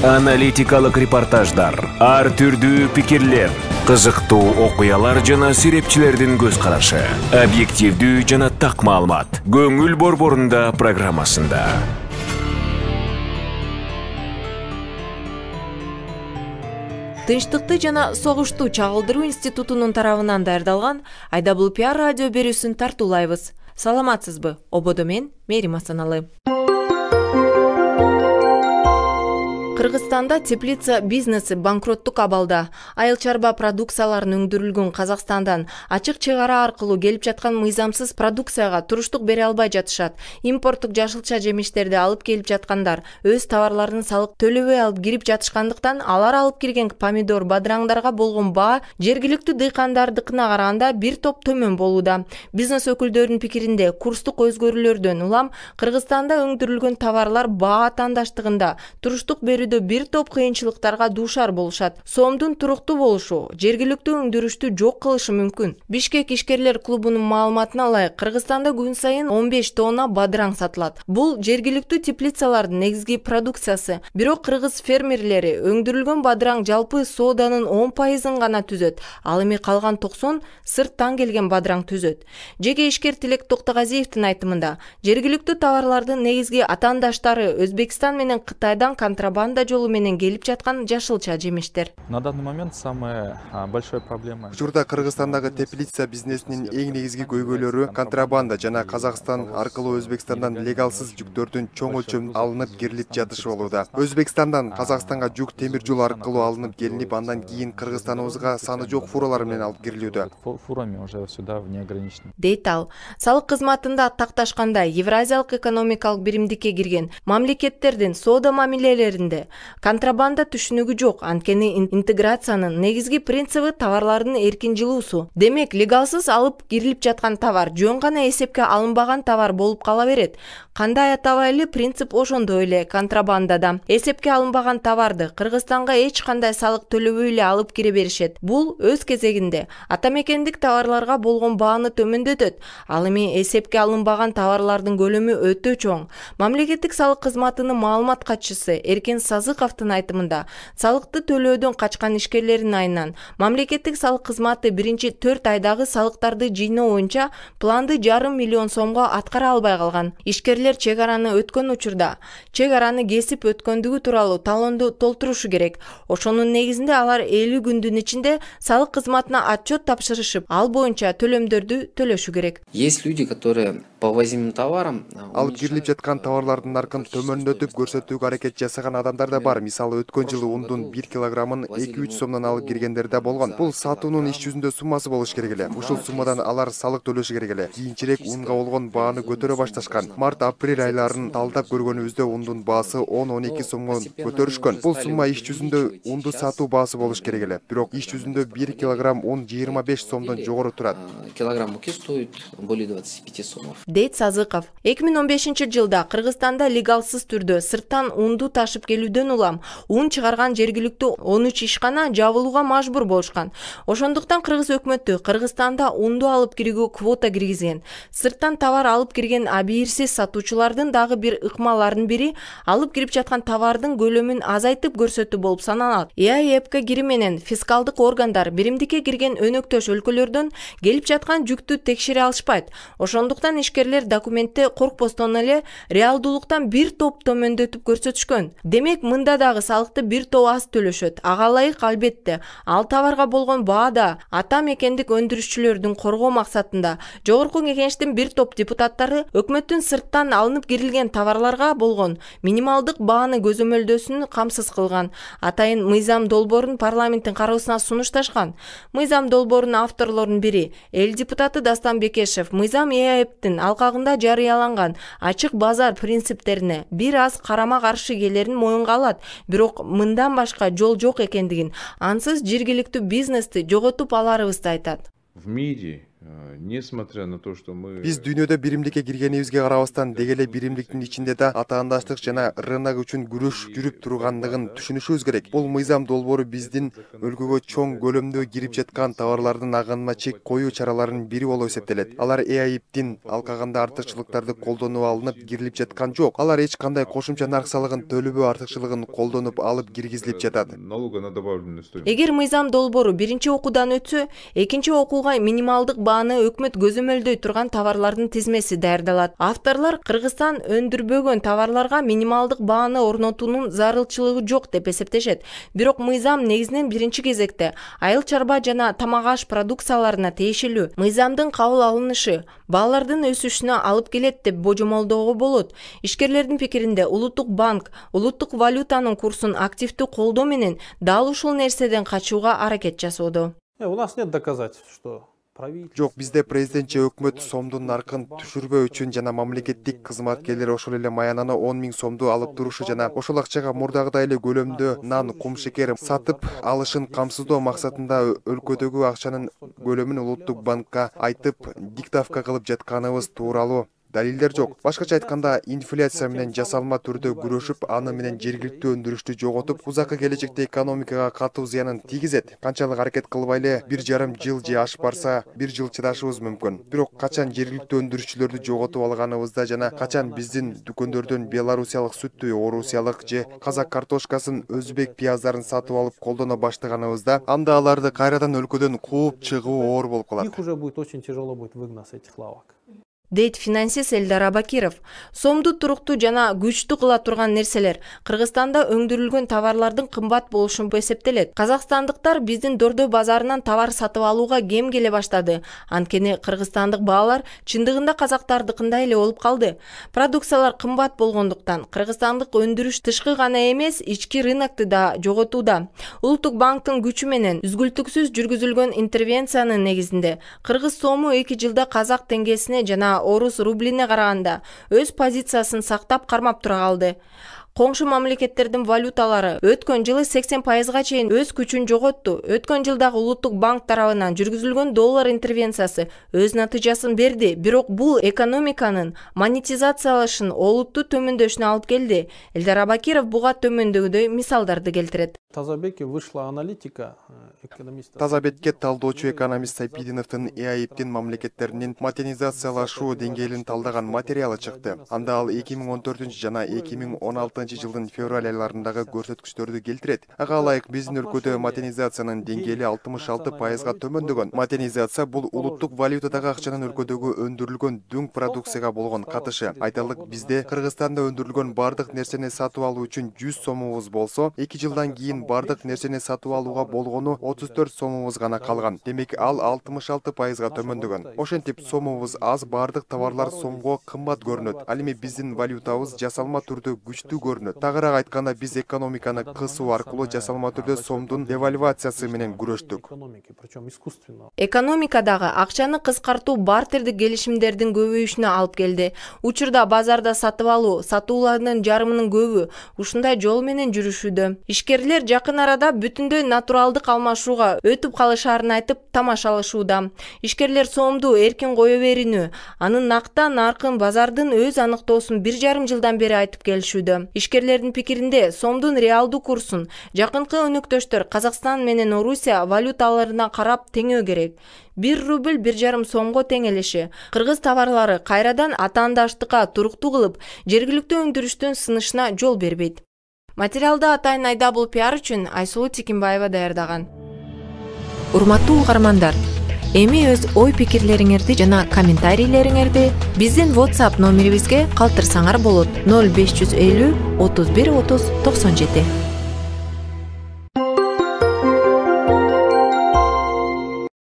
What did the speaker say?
Аналитикалык репортаждар, ар түрдүү пикирлер, кызыктуу окуялар жана серепчилердин көз карашы, объективдүү жана так маалымат. Көңүл борборунда программасында. Тынчтыкты жана согушту чагылдыруу институтунун тарабынан даярдалган Айдабул пиар радио берүүсүн тартуулайбыз. Саламатсызбы? Ободо мен Мерим Асаналы. Кыргызстанда теплица бизнеси банкроттук абалда. Айыл чарба продукцияларын өндүрүлгөн Казакстандан ачык чек ара аркылуу келип жаткан мыйзамсыз продукцияга туруштук бере албай жатышат. Импорттук жашылча жемиштерди алып келип жаткандар өз товарларын салык төлөбөй алып кирип жатышкандыктан алар алып кирген помидор, бадыраңдарга болгон баа жергиликтүү дыйкандардыкына караганда бир топ төмөн болууда. Бизнес өкүлдөрүнүн пикиринде, курстук өзгөрүүлөрдөн улам Кыргызстанда өндүрүлгөн товарлар баа тандыштыгында туруштук берүүдө бир топ кыйынчылыктарга дуушар болушат. Сомдун туруктуу болушу жергиликтүү өндүрүштү жок кылышы мүмкүн. Бишкек ишкерлер клубунун маалыматына ылайык, Кыргызстанда күн сайын 15 тонна бадыраң сатылат. Бул жергиликтүү теплицалардын негизги продукциясы. Бирок кыргыз фермерлери өндүрүлгөн бадыраң жалпы сооданын 10% гана түзөт. Ал эми калган 90 сырттан келген бадыраң түзөт. Жеке ишкер Тилек Токтогазиевдин айтымында, жергиликтүү товарлардын негизги атаандаштары Өзбекстан менен Кытайдан контрабанда жолу менен келип жаткан жашылча жемиштер. На данный момент самая большая проблема. Учурда Кыргызстандагы теплица бизнесинин эң негизги көйгөйлөрү контрабанда жана Казакстан аркылуу Өзбекстандан легалсыз жүктөрдүн чоң өлчөмдө алынып кирилип жатышы болууда. Өзбекстандан Казакстанга жүк темир жол аркылуу алынып келинип, андан кийин Кыргызстаныбызга саны жок фуралар менен алып кирилүүдө. Фурами уже сюда неограниченно. Дейт ал. Салык кызматында такташканда Евразиялык экономикалык биримдикке кирген мамлекеттердин соода мамилелеринде контрабанда түшүнүгү жок, анткени интеграциянын негизги принциби товарлардын эркин жылуусу. Демек, легалсыз алып кирилип жаткан товар жөн гана эсепке алынбаган товар болуп кала берет. Кандай атабайлы принцип ошондой эле контрабандада. Эсепке алынбаган товарды Кыргызстанга эч кандай салык төлөбөй эле алып кире беришет. Бул өз кезегинде атамекендик товарларга болгон бааны төмөндөтөт. Ал эми эсепке алынбаган товарлардын көлөмү өтө чоң. Мамлекеттик салык кызматынын маалымат катчысы Эркен Сазыковдун айтымында, салыкты төлөөдөн качкан ишкерлердин айынан мамлекеттик салык кызматы биринчи 4 айдагы салыктарды жыйноо боюнча планды 5,5 миллион сомго аткара албай калган. Ишкерлер чек араны өткөн учурда чек араны кесип өткөндүгү тууралуу талоонду толтурушу керек. Ошонун негизинде алар 50 күндүн ичинде салык кызматына отчет тапшырышып, ал боюнча төлөмдөрдү төлөшү керек. Есть люди, которые по возимым товарам алып кирилип жаткан товарлардын наркын төмөндөтүп көрсөтүүгө аракет жасаган адамдар да бар. Мисалы, өткөн жылы ундун 1 килограммын 2-3 сомдон алып киргендер да болгон. Бул сатуунун иш жүзүндө суммасы болуш керек эле. Ушул суммадан алар салык төлөшү керек эле. Кийинчерээк унга болгон бааны көтөрө башташкан. Март-апрель айларын талдап көргөнүбүздө ундун баасы 10-12 сомго көтөрүшкөн. Бул сумма иш жүзүндө унду сатуу баасы болуш керек эле. Бирок иш жүзүндө 1 килограмм ун 25 сомдон жогору турат. Килограмм муки стоит более 25 сомов. Дейт Сазыков. 2015 жылда Кыргызстанда легалсыз түрдө сырттан унду ташып келүүдөн улам ун чыгарган жергиликтүү 13 ишкана жабылууга мажбур болушкан. Ошондуктан кыргыз өкмөтү Кыргызстанда унду алып кирүүгө квота киргизген. Сырттан товар алып кирген абийирсиз сатуучулардын дагы бир ыкмаларынын бири алып кирип жаткан товардын көлөмүн азайтып көрсөтүү болуп саналат. ЭАЭПК кири менен фискалдык органдар биримдикке кирген өнөктөш өлкөлөрдөн келип жаткан жүктү текшере алышпайт. Ошондуктан ишкерлер документте коркпостон эле реалдуулуктан бир топ төмөндөтүп көрсөтүшкөн. Демек, мында дагы салыкты бир топ аз төлөшөт. Ага ылайык албетте. Ал товарга болгон баада ата мекендик өндүрүшчүлөрдүн коргоо максатында Жогорку Кеңештин бир топ депутаттары өкмөттүн сырттан алынып кирилген товарларга болгон минималдык бааны көзөмөлдөөсүн камсыз кылган. Атайын мыйзам долбоорун парламенттин кароосуна сунушташкан. Мыйзам долбоорунун авторлорунун бири эл депутаты Дастан Бекешев мыйзам ЭАЭПтин алкагында жарыяланган ачык базар принциптерине бир аз карама каршы келерин моюнга алат. Бирок мындан башка жол жок экендигин, ансыз жергиликтүү бизнести жоготуп аларыбызды айтат. В мире Несмотря на то, что мы... Биз дүйнөдө биримдикке киргенибизге карабастан деги эле биримдиктин ичинде да атаандаштык жана рынок үчүн күрөш жүрүп тургандыгын түшүнүшүбүз керек. Бул мыйзам долбоору биздин өлкөгө чоң көлөмдө кирип жаткан товарлардын агынына чек коюу чараларынын бири болуп эсептелет. Алар ЭАИПтин алкаганда артыкчылыктарды колдонуп алынып кирилип жаткан жок. Алар эч кандай кошумча нарк салыгын төлөбөө артыкчылыгын колдонуп алып киргизилип жатат. Налога на добавленную стоимость. Эгер мыйзам долбоору биринчи окуудан өтсө, экинчи окууга минималдык бааны өкмөт көзөмөлдөй турган товарлардын тизмеси даярдалат. Авторлор Кыргызстан өндүрбөгөн товарларга минималдык бааны орнотуунун зарылчылыгы жок деп эсептешет. Бирок мыйзам негизинен биринчи кезекте айыл чарба жана тамак аш продукцияларына тиешелүү. Мыйзамдын кабыл алынышы баалардын өсүшүнө алып келет деп божомолдоого болот. Ишкерлердин пикиринде Улуттук банк улуттук валютанын курсун активдүү колдоо менен дал ушул нерседен качууга аракет жасоодо. У нас нет доказательств, что Жок, бизде президент же өкмөт сомдун наркын түшүрбөө үчүн жана мамлекеттик кызматкерлер ошол эле маянаны 10 000 сомду алып турушу жана ошол акчага мурдагыдай эле көлөмдө нан, кум шекер сатып алышын камсыздоо максатында өлкөдөгү акчанын көлөмүн Улуттук банкка айтып диктовка кылып жатканыбыз тууралуу далилдер жок. Башкача айтканда, инфляция менен жасалма түрдө күрөшүп, аны менен жергиликтүү өндүрүштү жоготуп, узакы келечекте экономикага катуу зыянын тийгизет. Канчалык аракет кылбай эле 1,5 жыл же ашып барса, 1 жыл чыдашыбыз мүмкүн. Бирок качан жергиликтүү өндүрүшчүлөрдү жоготуп алганыбызда жана качан биздин дүкөндөрдөн белорусиялык сүттү, орусиялык же казак картошкасын, өзбек пияздарын сатып алып колдоно баштаганыбызда, анда аларды кайрадан өлкөдөн кууп чыгуу оор болуп калат. Их уже будет очень тяжело будет выгнать с этих лавок. Дейт финансист Элдар Абакиров. Сомду туруктуу жана күчтүү кыла турган нерселер Кыргызстанда өндүрүлгөн товарлардын кымбат болушу эсептелет. Казакстандыктар биздин Дордой базарынан товар сатып алууга кем келе баштады. Анткени кыргызстандык баалар чындыгында казактардыкындай эле болуп калды. Продукциялар кымбат болгондуктан кыргызстандык өндүрүш тышкы гана эмес, ички рынокту да жоготууда. Улуттук банктын күчү менен үзгүлтүксүз жүргүзүлгөн интервенциянын негизинде кыргыз сому 2 жылда казак теңгесине жана орус рублине караганда өз позициясын сактап кармап тура калды. Коңшу мамлекеттердин валюталары өткөн жылы 80%га чейин өз күчүн жоготту. Өткөн жылдагы Улуттук банк тарабынан жүргүзүлгөн доллар интервенциясы өз натыйжасын берди, бирок бул экономиканын монетизациялашын олуттуу төмөндөшүнө алып келди. Элдар Абакиров буга төмөндөгүдөй мисалдарды келтирет. Тазабекке вышла аналитика экономиста. Тазабекке талдоочу экономист Сайпидиновдун ЭАИПтин мамлекеттеринин модернизациялашуу деңгээлин талдаган материалы чыкты. Анда ал 2014 жана 2016 жылдын февраль айларындагы көрсөткүчтөрдү келтирет. Ага ылайык биздин өлкөдө модернизациянын деңгээли 66%га төмөндөгөн. Модернизация бул улуттук валютадагы акчанын өлкөдөгү өндүрүлгөн дүң продукцияга болгон катышы. Айталык, бизде Кыргызстанда өндүрүлгөн бардык нерсени сатып алуу үчүн 100 сомубуз болсо, 2 жылдан кийин бардык нерсени сатып алууга болгону 34 сомубуз гана калган. Демек ал 66%га төмөндөгөн. Ошентип сомубуз аз, бардык товарлар сомго кымбат көрүнөт. Ал эми биздин валютабыз жасалма түрдө күчтүү көрүнөт. Тагыраак айтканда, биз экономиканы кысуу аркылуу жасалма түрдө сомдун девальвациясы менен күрөштүк. Экономикадагы акчаны кыскартуу бартердик келишимдердин көбөйүшүнө алып келди. Учурда базарда сатып алуу, сатуулардын жарымынын көбү ушундай жол менен жүрүшүүдө. Ишкерлер жакын арада бүтүндөй натуралдык алмашууга өтүп калышаарын айтып тамашалашууда. Ишкерлер сомду эркин кое берүүнү, анын нактан наркын базардын өз аныктоосун 1,5 жылдан бери айтып келишүүдө. Ишкерлердин пикиринде сомдун реалдуу курсун жакынкы өнөктөштөр Казакстан менен Орусия валюталарына карап теңөө керек. 1 рубль 1,5 сомго теңелеши кыргыз товарлары кайрадан атаандаштыкка туруктуу кылып, жергиликтүү өндүрүштүн сынышына жол бербейт. Материалды Атайын Айдабул пиар үчүн Айсулуу Тикимбаева даярдаган. Урматтуу угармандар, эми өз ой пикирлериңерди жана комментарийлериңерди биздин WhatsApp номерибизге калтырсаңар болот. 0550 31 30 97.